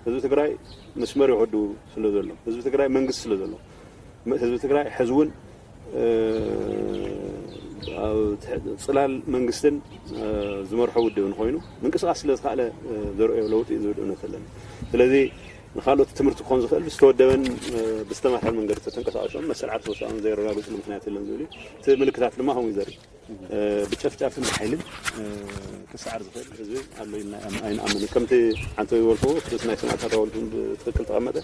ህዝቢ ትግራይ መስመር ይወዱ ስለ ዘሎ፣ ህዝቢ ትግራይ መንግስቲ ስለ ዘሎ፣ ህዝቢ ትግራይ ሕዚ እውን ኣብ ጽላል መንግስትን ዝመርሖ ውድብን ኮይኑ ምንቅስቃስ ስለ ዝኸኣለ ዘርእዮ ለውጢ ዝብል እምነት ኣለኒ። ስለዚ ንካልኦት ትምህርቲ ክኾን ዝኽእል ዝተወደበን ብዝተማርሐ መንገዲ ተተንቀሳቀሶም መሰል ዓርሰ ውሳኦም ዘየረጋግፅሉ ምክንያት የለን ዝብል እዩ። እቲ ምልክታት ድማ ከምኡ እዩ ዘርኢ። ብጨፍጫፍን ብሓይልን ክሰዓር ዝኽእል ህዝቢ ኣሎ ኢልና ኣይንኣምን። ከምቲ ዓንተው ዝበልክዎ ክስ ናይ ሰማእታት ሃውልትን ብትክክል ተቐመጠ።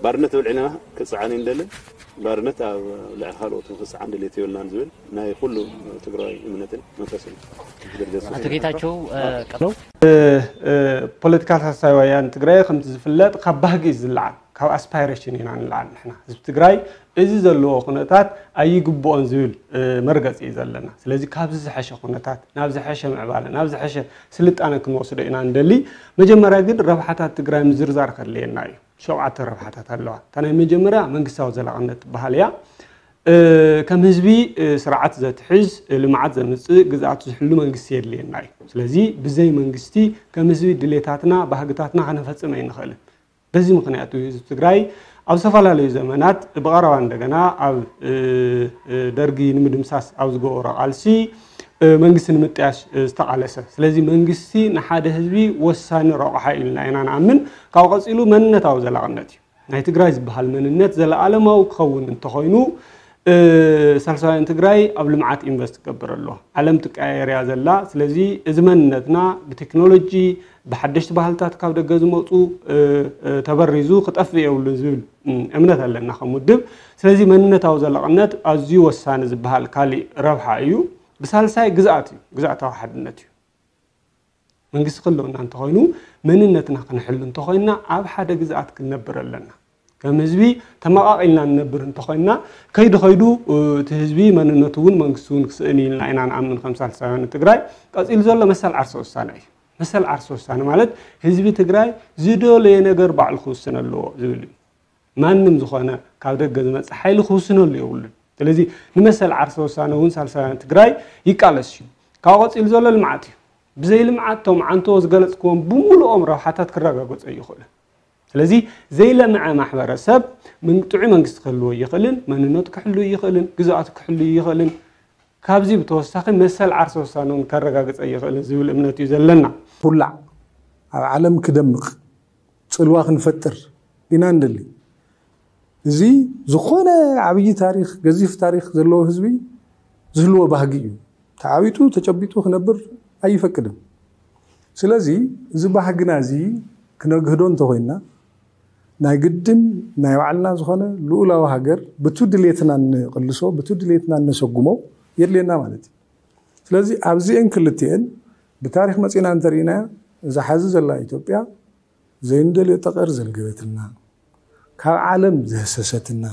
ባርነት ተበልዒና ክፀዓን ኣይንደልን። ባርነት ኣብ ልዕሊ ካልኦት ክፀዓን ድሌት የብልናን ዝብል ናይ ኩሉ ትግራዋይ እምነትን መንፈስን። ኣቶ ጌታቸው ፖለቲካ ሳልሳይ ወያነ ትግራይ ከምቲ ዝፍለጥ ካብ ባህጊ እዩ ዝለዓል፣ ካብ ኣስፓይሬሽን ኢና ንለዓል። ንሕና ህዝቢ ትግራይ እዚ ዘለዎ ኩነታት ኣይግብኦን ዝብል መርገፂ እዩ ዘለና። ስለዚ ካብዚ ዝሐሸ ኩነታት ናብ ዝሐሸ ምዕባለ ናብ ዝሐሸ ስልጣነ ክንወስዶ ኢና ንደሊ። መጀመርያ ግን ረብሓታት ትግራይ ምዝርዛር ከድልየና እዩ። ሸውዓተ ረብሓታት ኣለዋ። እታ ናይ መጀመርያ መንግስታዊ ዘላቕነት ትበሃል እያ። ከም ህዝቢ ስርዓት ዘትሕዝ፣ ልምዓት ዘምፅእ፣ ግዝኣቱ ዝሕሉ መንግስቲ የድልየና እዩ። ስለዚ ብዘይ መንግስቲ ከም ህዝቢ ድሌታትና ባህግታትና ከነፈፅም ኣይንኽእልን። በዚ ምኽንያት እዩ ህዝቢ ትግራይ ኣብ ዝተፈላለዩ ዘመናት ብቐረባ እንደገና ኣብ ደርጊ ንምድምሳስ ኣብ ዝገበሮ ቃልሲ መንግስቲ ንምጥያሽ ዝተቓለሰ። ስለዚ መንግስቲ ንሓደ ህዝቢ ወሳኒ ረቑሓ እዩ ኢልና ኢና ንኣምን። ካብኡ ቀፂሉ መንነታዊ ዘላቕነት እዩ። ናይ ትግራይ ዝበሃል መንነት ዘለኣለማዊ ክኸውን እንተኾይኑ ሳልሳውያን ትግራይ ኣብ ልምዓት ኢንቨስት ክገብር ኣለዎ። ዓለም ትቀያየር እያ ዘላ። ስለዚ እዚ መንነትና ብቴክኖሎጂ ብሓደሽቲ ባህልታት ካብ ደገ ዝመፁ ተበሪዙ ክጠፍእ የብሉን ዝብል እምነት ኣለና ከም ውድብ። ስለዚ መንነታዊ ዘለቕነት ኣዝዩ ወሳኒ ዝበሃል ካሊእ ረብሓ እዩ። ብሳልሳይ ግዝኣት እዩ፣ ግዝኣታዊ ሓድነት እዩ። መንግስቲ ክህልወና እንተኾይኑ መንነትና ክንሕሉ እንተኾይንና ኣብ ሓደ ግዝኣት ክንነብር ኣለና። ከም ህዝቢ ተመቓቒልና ንነብር እንተኾይንና ከይዱ ከይዱ እቲ ህዝቢ መንነቱ እውን መንግስቲ እውን ክስእን ኢልና ኢና ንኣምን ከም ሳልሳውያን ትግራይ። ቀፂሉ ዘሎ መሰል ዓርሰ ውሳነ እዩ። መሰል ዓርሰ ውሳነ ማለት ህዝቢ ትግራይ ዝደለየ ነገር ባዕሉ ክውስን ኣለዎ ዝብል እዩ። ማንም ዝኾነ ካብ ደገ ዝመፅእ ሓይሊ ክውስነሉ የብሉን። ስለዚ ንመሰል ዓርሰ ውሳነ እውን ሳልሳውያን ትግራይ ይቃለስ እዩ። ካብኡ ቀፂሉ ዘሎ ልምዓት እዩ። ብዘይ ልምዓት እቶም ዓንተዎ ዝገለፅክዎም ብምሉኦም ረብሓታት ክረጋገፁ ኣይኽእሉን። ስለዚ ዘይለምዐ ማሕበረሰብ ጥዑይ መንግስቲ ክህልዎ ይኽእልን መንነቱ ክሕሉ ይኽእልን ግዝኣቱ ክሕሉ ይኽእልን። ካብዚ ብተወሳኺ መሰል ዓርሰ ውሳነ እውን ከረጋግፅ ኣይኽእልን ዝብል እምነት እዩ ዘለና። ኩላዕ ኣብ ዓለም ክደምቕ ፅልዋ ክንፈጥር ኢና ንደሊ። እዚ ዝኾነ ዓብዪ ታሪኽ ገዚፍ ታሪኽ ዘለዎ ህዝቢ ዝህልዎ ባህጊ እዩ። ተዓቢጡ ተጨቢጡ ክነብር ኣይፈቅድን። ስለዚ እዚ ባህግና እዚ ክነግህዶ እንተኾይንና ናይ ግድን ናይ ባዕልና ዝኾነ ልኡላዊ ሃገር ብቱ ድሌትና እንቕልሶ ብቱ ድሌትና እነሰጉሞ የድልየና ማለት እዩ። ስለዚ ኣብዚኤን ክልቲኤን ብታሪኽ መፂና እንተርኢናያ እዛ ሓዚ ዘላ ኢትዮጵያ ዘይንደልዮ ጠቐር ዘልገበትና ካብ ዓለም ዘህሰሰትና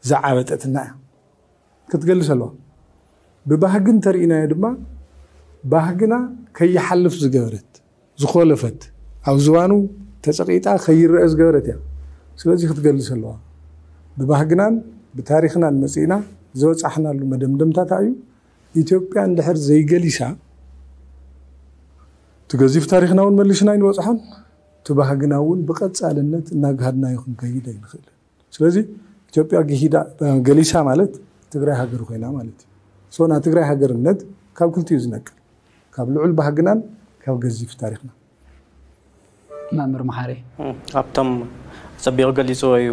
ዝዓበጠትና እያ ክትገልፅ ኣለዋ። ብባህጊ እንተርኢናዮ ድማ ባህግና ከይሓልፍ ዝገበረት ዝኾለፈት ኣብ ዝባኑ ተፀቒጣ ከይረአ ዝገበረት እያ። ስለዚ ክትገልፅ ኣለዋ። ብባህግናን ብታሪኽናን መፂእና ዝበፃሕናሉ መደምደምታ እንታይ እዩ? ኢትዮጵያ እንድሕር ዘይገሊሳ እቲ ገዚፍ ታሪኽና እውን መሊስና ኣይንበፅሖን። እቲ ባህግና እውን ብቐፃልነት እናግሃድናዮ ክንከይድ ኣይንኽእልን። ስለዚ ኢትዮጵያ ግሂዳ ገሊሳ ማለት ትግራይ ሃገር ኮይና ማለት እዩ። ሶ ናይ ትግራይ ሃገርነት ካብ ክልቲኡ ዝነቅል ካብ ልዑል ባህግናን ካብ ገዚፍ ታሪኽና። መምህር መሓሪ ኣብቶም ፀቢቑ ገሊፅዎ እዩ።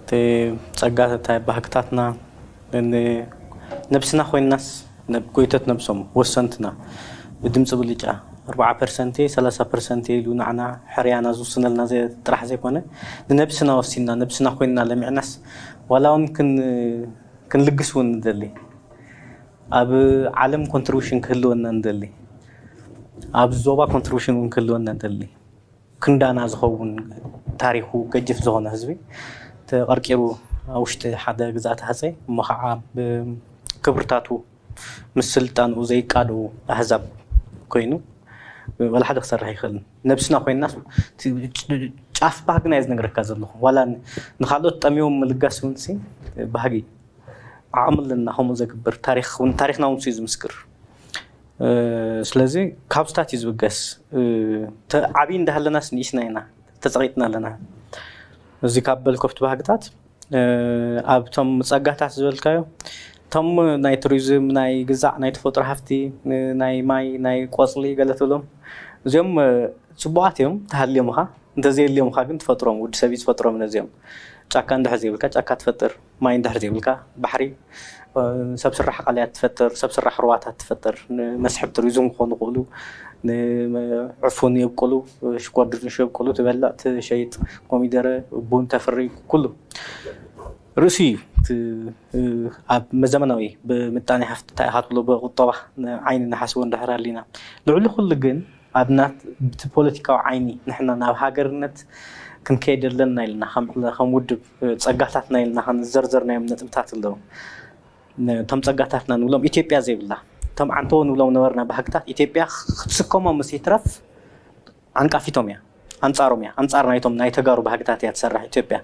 እቲ ፀጋታት ባህግታትና ነብስና ኮይንናስ ጎይቶት ነብሶም ወሰንትና ብድምፂ ብልጫ ኣርባዓ ፐርሰንት ሰላሳ ፐርሰንት ኢሉ ንዓና ሕርያና ዝውስነልና ጥራሕ ዘይኮነ ንነብስና ወሲንና ነብስና ኮይንና ለሚዕናስ ዋላ እውን ክንልግስ እውን ንደሊ። ኣብ ዓለም ኮንትሪቡሽን ክህልወና ንደሊ። ኣብ ዞባ ኮንትሪቡሽን እውን ክህልወና ንደሊ። ክንዳና ዝኸውን ታሪኹ ገጅፍ ዝኾነ ህዝቢ ተቐርቂሩ ኣብ ውሽጢ ሓደ ግዛት ሃፀይ እሞ ከዓ ብክብርታቱ ምስ ስልጣንኡ ዘይቃደው ኣህዛብ ኮይኑ ዋላ ሓደ ክሰርሕ ይኽእልን ነብስና ኮይና ጫፍ ባህግና እየ ዝነግረካ ዘለኹ ዋላ ንካልኦት ጠሚዎም ምልጋስ እውን ባህጊ ዓቕሚ ኣለና ከምኡ ዘግብር ታሪኽና እውን እዩ ዝምስክር ስለዚ ካብ ስታት እዩ ዝብገስ። ዓብዪ እንዳሃለናስ ንእሽና ኢና፣ ተፀቒጥና ኣለና። እዚ ካብ በልኮፍቲ ባህግታት ኣብቶም ፀጋታት ዝበልካዮ፣ እቶም ናይ ቱሪዝም፣ ናይ ግዛዕ፣ ናይ ተፈጥሮ ሃፍቲ፣ ናይ ማይ፣ ናይ ቆፅሊ ገለ ትብሎም፣ እዚኦም ፅቡቓት እዮም። ተሃልዮም ኻ፣ እንተዘየልዮም ኻ ግን ትፈጥሮም፣ ውዲ ሰብ እዩ ዝፈጥሮም። ነዚኦም ጫካ እንድሕር ዘይብልካ ጫካ ትፈጥር፣ ማይ እንድሕር ዘይብልካ ባሕሪ፣ ሰብ ስራሕ ቃልያት ትፈጥር፣ ሰብ ስራሕ ሩባታት ትፈጥር፣ ንመስሕብ ቱሪዝም ክኾኑ ይኽእሉ፣ ንዕፉን የብቅሉ፣ ሽኮር ድንሽ የብቅሉ፣ ትበልዕ ትሸይጥ፣ ኮሚደረ ቡን ተፍሪ፣ ኩሉ ርእሲ እዩ። እቲ ኣብ ዘመናዊ ብምጣኔ ሃፍቲ እንታይ ኢኻ ትብሎ፣ ብቁጠባ ዓይኒ ንሓስቦ እንድሕር ኣሊና፣ ልዕሊ ኩሉ ግን ኣብ ናት ብቲ ፖለቲካዊ ዓይኒ ንሕና ናብ ሃገርነት ክንከይድ ኣለና ኢልና ከም ውድብ ፀጋታትና ኢልና ክንዘርዘርናዮም ነጥብታት ኣለዉ። እቶም ፀጋታትና ንብሎም ኢትዮጵያ ዘይብላ፣ እቶም ዓንተዎ ንብሎም ነበርና ባህግታት ኢትዮጵያ ክትስከሞም ምስ ይትረፍ ዓንቃፊቶም እያ፣ ኣንፃሮም እያ፣ ኣንፃር ናይቶም ናይ ተጋሩ ባህግታት እያ ትሰርሕ ኢትዮጵያ።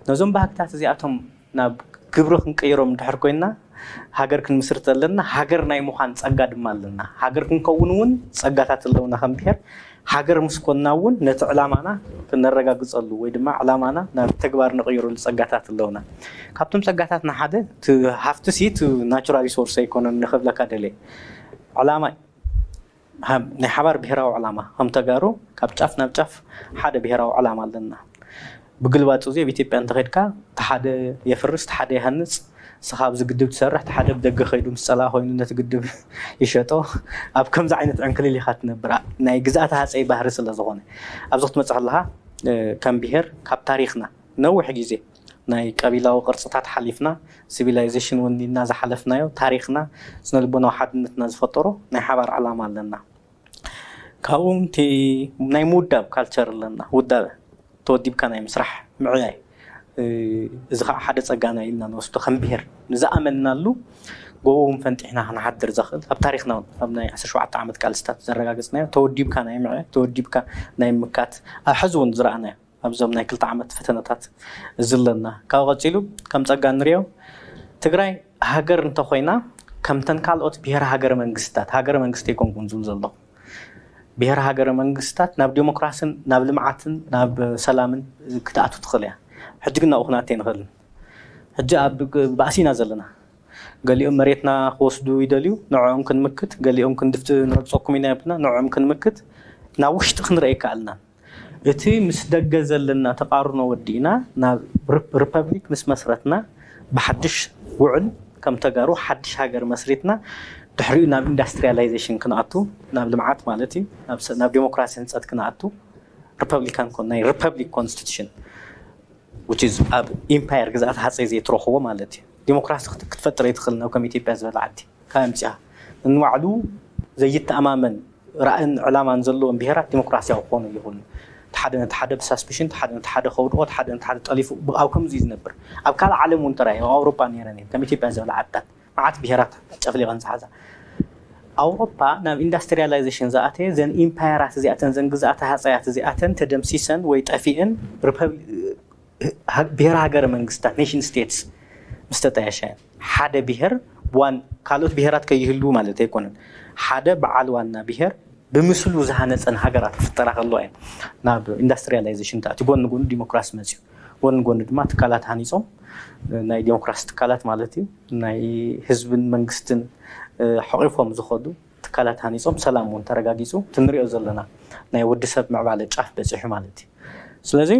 ነዞም ባህግታት እዚኣቶም ናብ ግብሪ ክንቅይሮም እንድሕር ኮይና፣ ሃገር ክንምስርት ኣለና። ሃገር ናይ ምዃን ፀጋ ድማ ኣለና። ሃገር ክንከውን እውን ፀጋታት ኣለውና ከም ብሄር። ሃገር ምስ ኮንና እውን ነቲ ዕላማና ክነረጋግፀሉ ወይ ድማ ዕላማና ናብ ተግባር ንቕይረሉ ፀጋታት ኣለውና። ካብቶም ፀጋታትና ሓደ እቲ ሃፍቲ ሲ እቲ ናቹራል ሪሶርስ ኣይኮነን ንኽብለካ ደልየ። ዕላማ ናይ ሓባር ብሄራዊ ዕላማ ከም ተጋሩ ካብ ጫፍ ናብ ጫፍ ሓደ ብሄራዊ ዕላማ ኣለና። ብግልባጡ እዚ ኣብ ኢትዮጵያ እንተኸድካ እቲ ሓደ የፍርስ፣ እቲ ሓደ ይሃንፅ፣ ንስኻ ኣብዚ ግድብ ትሰርሕ፣ እቲ ሓደ ብደገ ከይዱ ምስ ፀላእ ኮይኑ ነቲ ግድብ ይሸጦ። ኣብ ከምዚ ዓይነት ዕንክሊል ኢኻ ትነብር፣ ናይ ግዝኣተ ሃፀይ ባህሪ ስለ ዝኾነ። ኣብዚ ክትመፅእ ከለኻ ከም ብሄር ካብ ታሪኽና ነዊሕ ግዜ ናይ ቀቢላዊ ቅርፅታት ሓሊፍና፣ ሲቪላይዜሽን እውን ኢልና ዝሓለፍናዮ፣ ታሪኽና፣ ስነ ልቦናዊ ሓድነትና ዝፈጠሮ ናይ ሓባር ዕላማ ኣለና። ካብኡ እቲ ናይ ምውዳብ ካልቸር ኣለና። ውዳበ ተወዲብካ ናይ ምስራሕ ምዕያይ፣ እዚ ከዓ ሓደ ፀጋና ኢልና ንወስዶ ከም ብሄር ንዝኣመንናሉ ጎቦ እውን ፈንጢሕና ክንሓድር ዘኽእል ኣብ ታሪኽና እውን ኣብ ናይ ዓሰርተ ሸውዓተ ዓመት ቃልስታት ዘረጋገፅናዮ ተወዲብካ ናይ ምዕያይ፣ ተወዲብካ ናይ ምካት፣ ኣብ ሕዚ እውን ዝረኣናዮ ኣብዞም ናይ ክልተ ዓመት ፈተነታት እዚ ኣለና። ካብ ቀፂሉ ከም ፀጋ ንሪኦ ትግራይ ሃገር እንተኾይና ከምተን ካልኦት ብሄር ሃገረ መንግስትታት፣ ሃገረ መንግስቲ ኣይኮንኩን ዝብል ዘለኹ፣ ብሄር ሃገረ መንግስትታት ናብ ዲሞክራስን ናብ ልምዓትን ናብ ሰላምን ክትኣቱ ትኽእል እያ። ሕጂ ግን ናብኡ ክነኣቲ ኣይንኽእልን። ሕጂ ኣብ ባእሲ ኢና ዘለና። ገሊኦም መሬትና ክወስዱ ይደልዩ፣ ንዕኦም ክንምክት፣ ገሊኦም ክንድፍት ንረግፀኩም ኢና ይብሉና፣ ንዕኦም ክንምክት፣ ናብ ውሽጢ ክንርኢ ኣይከኣልናን። እቲ ምስ ደገ ዘለና ተቃርኖ ወዲእና ናብ ሪፐብሊክ ምስ መስረትና ብሓድሽ ውዕል ከም ተጋሩ ሓድሽ ሃገር መስሪትና ድሕሪኡ ናብ ኢንዳስትሪያላይዜሽን ክንኣቱ ናብ ልምዓት ማለት እዩ ናብ ዲሞክራሲ ህንፀት ክንኣቱ ሪፐብሊካን ናይ ሪፐብሊክ ኮንስቲቱሽን which is ኣብ ኢምፓየር ግዝኣት ሃፀይ ዘይትረኽቦ ማለት እዩ። ዲሞክራሲ ክትፈጥር ኣይትኽእልን ኣብ ከም ኢትዮጵያ ዝበለ ዓዲ ካብ ኣምፅኣ ንባዕሉ ዘይተኣማመን ራእን ዕላማን ዘለዎም ብሄራት ዲሞክራሲያዊ ክኾኑ ይኽእሉ። እቲ ሓደ ነቲ ሓደ ብሳስፒሽን፣ እቲ ሓደ ነቲ ሓደ ከውድቖ፣ እቲ ሓደ ነቲ ሓደ ጠሊፉ ኣብ ከምዚ እዩ ዝነብር። ኣብ ካልእ ዓለም እውን ጥራይ ኣብ ኣውሮጳ ነይረን እየን ከም ኢትዮጵያ ዝበለ ዓድታት መዓት ብሄራት ጨፍሊቐን ዝሓዛ። ኣውሮፓ ናብ ኢንዳስትሪያላይዜሽን ዝኣተየ ዘን ኢምፓየራት እዚኣተን ዘን ግዝኣተ ሃፀያት እዚኣተን ተደምሲሰን ወይ ጠፊእን ብሄር ሃገረ መንግስታት ኔሽን ስቴትስ ምስ ተጣየሸ ሓደ ብሄር ዋን ካልኦት ብሄራት ከይህልዉ ማለት ኣይኮነን። ሓደ በዓል ዋና ብሄር ብምስሉ ዝሃነፀን ሃገራት ክፍጠራ ከለዋ እየን ናብ ኢንዳስትሪያላይዜሽን ተኣትዩ። ጎኒ ጎኒ ዲሞክራሲ መፅዩ፣ ጎኒ ጎኒ ድማ ትካላት ሃኒፆም ናይ ዲሞክራሲ ትካላት ማለት እዩ ናይ ህዝብን መንግስትን ሓቂፎም ዝኸዱ ትካላት ሃኒፆም ሰላም እውን ተረጋጊፁ ትንሪኦ ዘለና ናይ ወዲ ሰብ ምዕባለ ጫፍ በፂሑ ማለት እዩ። ስለዚ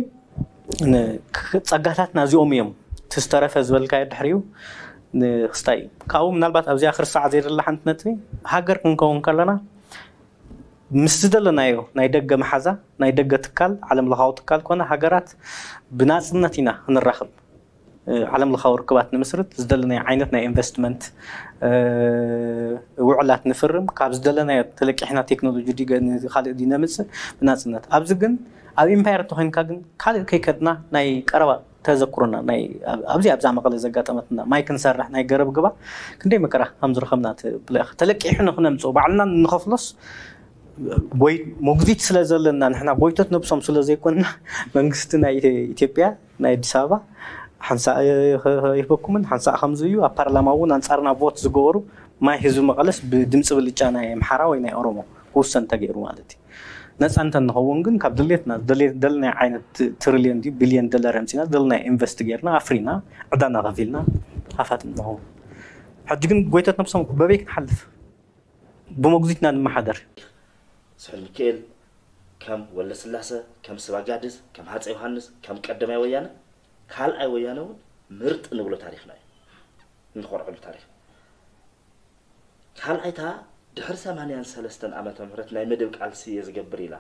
ፀጋታትና እዚኦም እዮም። ትዝተረፈ ዝበልካዮ ድሕሪኡ ንክስታይ እዩ። ካብኡ ምናልባት ኣብዚኣ ክርስዓ ዘይደላ ሓንቲ ነጥቢ ሃገር ክንከውን ከለና ምስ ዝደለናዮ ናይ ደገ መሓዛ ናይ ደገ ትካል ዓለም ለኻዊ ትካል ኮነ ሃገራት ብናፅነት ኢና ክንራኽብ ዓለም ለኻዊ ርክባት ንምስርት ዝደለናዮ ዓይነት ናይ ኢንቨስትመንት ውዕላት ንፍርም ካብ ዝደለናዮ ተለቂሕና ቴክኖሎጂ ካልእ ነምፅእ ብናፅነት ኣብዚ ግን ኣብ ኢምፓየር እንተኮይንካ ግን ካልእ ከይከድና ናይ ቀረባ ተዘክሮና ኣብዚ ኣብዛ መቐለ ዘጋጠመትና ማይ ክንሰርሕ ናይ ገረብ ግባ ክንደይ መከራ ከም ዝረኸብና ትብለ ኢኻ። ተለቂሑ ንክነምፅኦ ባዕልና ንኸፍሎስ ወይ ሞግዚት ስለ ዘለና ንሕና ጎይቶት ነብሶም ስለ ዘይኮንና መንግስቲ ናይ ኢትዮጵያ ናይ ኣዲስ ኣበባ ሓንሳእ ይህበኩምን ሓንሳእ ከምዚ እዩ ኣብ ፓርላማ እውን ኣንፃርና ቮት ዝገበሩ ማይ ህዝቢ መቐለስ ብድምፂ ብልጫ ናይ ኣምሓራ ወይ ናይ ኦሮሞ ክውሰን እንተገይሩ ማለት እዩ። ነፃ እንተንኸውን ግን ካብ ድሌትና ደልናይ ዓይነት ትሪልዮን ድዩ ቢልዮን ዶላር ኣምፂና ደልናይ ኢንቨስት ጌርና ኣፍሪና ዕዳና ከፊልና ሃፋትም ንኸውን። ሕጂ ግን ጎይቶት ነብሶም በበይ ክንሓልፍ? ብመጉዚትና ንመሓደር። ስሑል ሚካኤል ከም ወለስላሰ፣ ከም ስባጋድስ፣ ከም ሃፀ ዮሃንስ፣ ከም ቀደማይ ወያነ፣ ካልኣይ ወያነ እውን ምርጥ ንብሎ ታሪኽና እዩ። እንኾርዐሉ ታሪኽ። ካልኣይታ ድሕሪ ሰማንያን ሰለስተን ዓመተ ምህረት ናይ መደብ ቃልሲ እየ ዝገብር ኢላ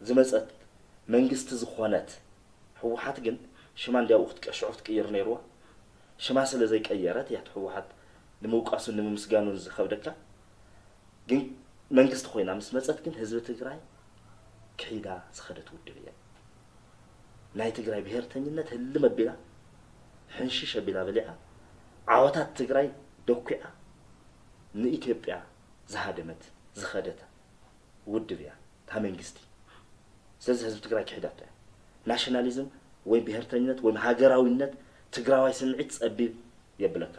ዝመፀት መንግስቲ ዝኾነት ህወሓት ግን ሽማ እንዲያው ክትቀሽዑ ክትቅይር ነይርዋ። ሽማ ስለ ዘይቀየረት እያ ህወሓት ንምውቃሱን ንምምስጋኑን ዝኸብደካ። ግን መንግስቲ ኮይና ምስ መፀት ግን ህዝቢ ትግራይ ክሒዳ ዝኸደት ውድብ እያ። ናይ ትግራይ ብሄርተኝነት ህልም ኣቢላ ሕንሽሽ ኣቢላ በሊዓ ዓወታት ትግራይ ደኩዓ ንኢትዮጵያ ዝሃደመት ዝኸደት ውድብ እያ እታ መንግስቲ። ስለዚ ህዝቢ ትግራይ ክሒዳቶ እያ። ናሽናሊዝም ወይ ብሄርተኝነት ወይ ሃገራዊነት ትግራዋይ ስምዒት ፀቢብ የብለካ።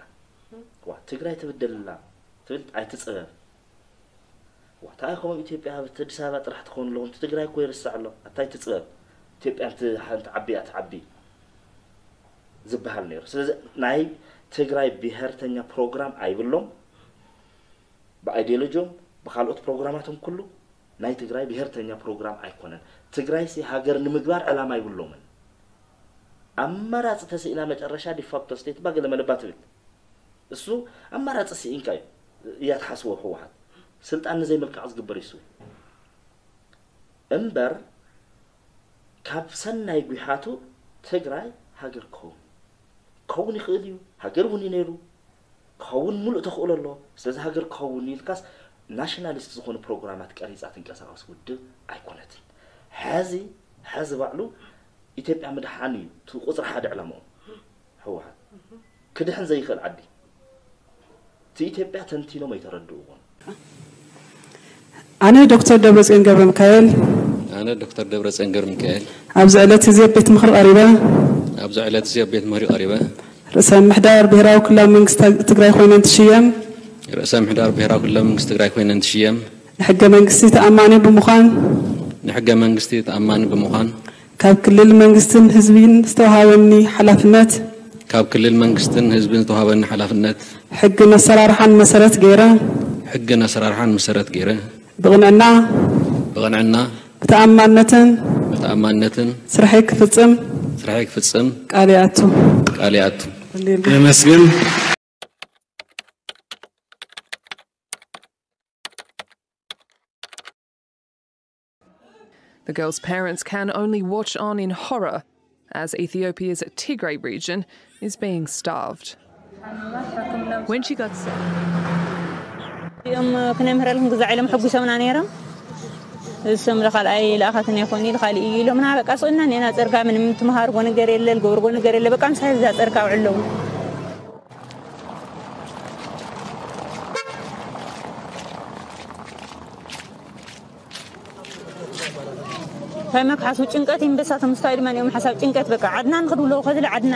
ዋ ትግራይ ትብደል ኣላ ትብል ኣይትፅበብ። ዋ እንታይ ከምኡ ኢትዮጵያ ኣብቲ ኣዲስ ኣበባ ጥራሕ ትኸውን ኣለኹ እቲ ትግራይ እኮ ይርስዕ ኣሎ ኣታይ ትፅበብ ኢትዮጵያ ሓንቲ ዓቢ እያ ትዓቢ ዝበሃል ነይሩ። ስለዚ ናይ ትግራይ ብሄርተኛ ፕሮግራም ኣይብሎም ብኣይዲዮሎጂም ብካልኦት ፕሮግራማቶም ኩሉ ናይ ትግራይ ብሄርተኛ ፕሮግራም ኣይኮነን። ትግራይሲ ሃገር ንምግባር ዕላማ ኣይብሎምን። ኣማራፂ ተስኢና መጨረሻ ዲፋክቶ ስቴት ባ ገለ መለባ ትብል። እሱ ኣማራፂ ስኢንካ እዩ እያ ትሓስቦ ህወሓት ስልጣን ንዘይምልቃቕ ዝግበር እዩ እሱ። እምበር ካብ ሰናይ ጒሓቱ ትግራይ ሃገር ክኸውን ክኸውን ይኽእል እዩ። ሃገር እውን እዩ ነይሩ ክኸውን ሙሉእ ተኽእሎ ኣሎ። ስለዚ ሃገር ክኸውን ኢልካስ ናሽናሊስት ዝኾኑ ፕሮግራማት ቀሪፃ ትንቀሳቐስ ውድብ ኣይኮነትን። ሕዚ ሕዚ ባዕሉ ኢትዮጵያ ምድሓን እዩ እቲ ቁፅሪ ሓደ ዕላምኦም። ህወሓት ክድሕን ዘይኽእል ዓዲ እቲ ኢትዮጵያ ተንቲኖም ኣይተረድእዎን። ኣነ ዶክተር ደብረፅዮን ገብረ ሚካኤል ኣነ ዶክተር ደብረፅዮን ገብረ ሚካኤል ኣብዚ ዕለት እዚ ኣብ ቤት ምኽሪ ቀሪበ ኣብዚ ዕለት እዚ ኣብ ቤት ምኽሪ ቀሪበ ርእሰ ምምሕዳር ብሄራዊ ክልላዊ መንግስቲ ትግራይ ኮይነ እንትሽየም ርእሰ ምምሕዳር ብሄራዊ ክልላዊ መንግስቲ ትግራይ ኮይነ እንትሽየም ንሕገ መንግስቲ ተኣማኒ ብምዃን ንሕገ መንግስቲ ተኣማኒ ብምዃን ካብ ክልል መንግስትን ህዝብን ዝተውሃበኒ ሓላፍነት ካብ ክልል መንግስትን ህዝብን ዝተውሃበኒ ሓላፍነት ሕግን ኣሰራርሓን መሰረት ገይረ ሕግን ኣሰራርሓን መሰረት ገይረ ብቕንዕና ብቕንዕና ብተኣማንነትን ብተኣማንነትን ስርሐይ ክፍፅም ስርሐይ ክፍፅም ቃል ይኣቱ። ቃል ይኣቱ። የመስግን። The girl's parents can only watch on in horror as Ethiopia's Tigray region is being starved. When she got sick, እዚኦም ክነምህረልኩም ግዛዕ ኢሎም ሕጒሶምና ነይሮም። እሶም ለካልኣይ ለኣኻትን ኣይኮን ኢሉ ካልእ እዩ ኢሎምና በቃ ስቕና ኔና ፀርጋ ምንም ትመሃርጎ ነገር የለ ልገብርጎ ነገር የለ በቃ ምሳይ እዛ ፀርጋ ውዕለዉ። እንታይ መክሓሱ ጭንቀት ይንበሳቶም ስታይ ድማ ኒኦም ሓሳብ ጭንቀት በቃ ዓድና ንኽድውለዉ ከድለ ዓድና።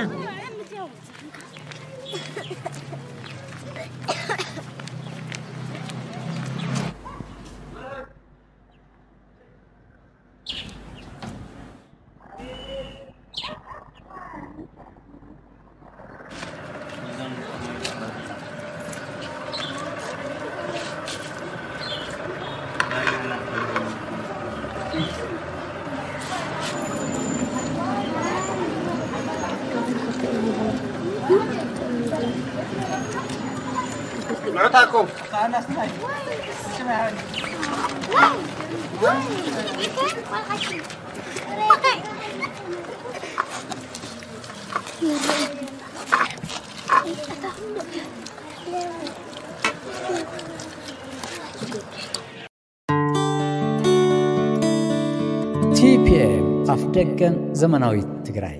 ቲፒኤም ኣፍደገን ዘመናዊት ትግራይ።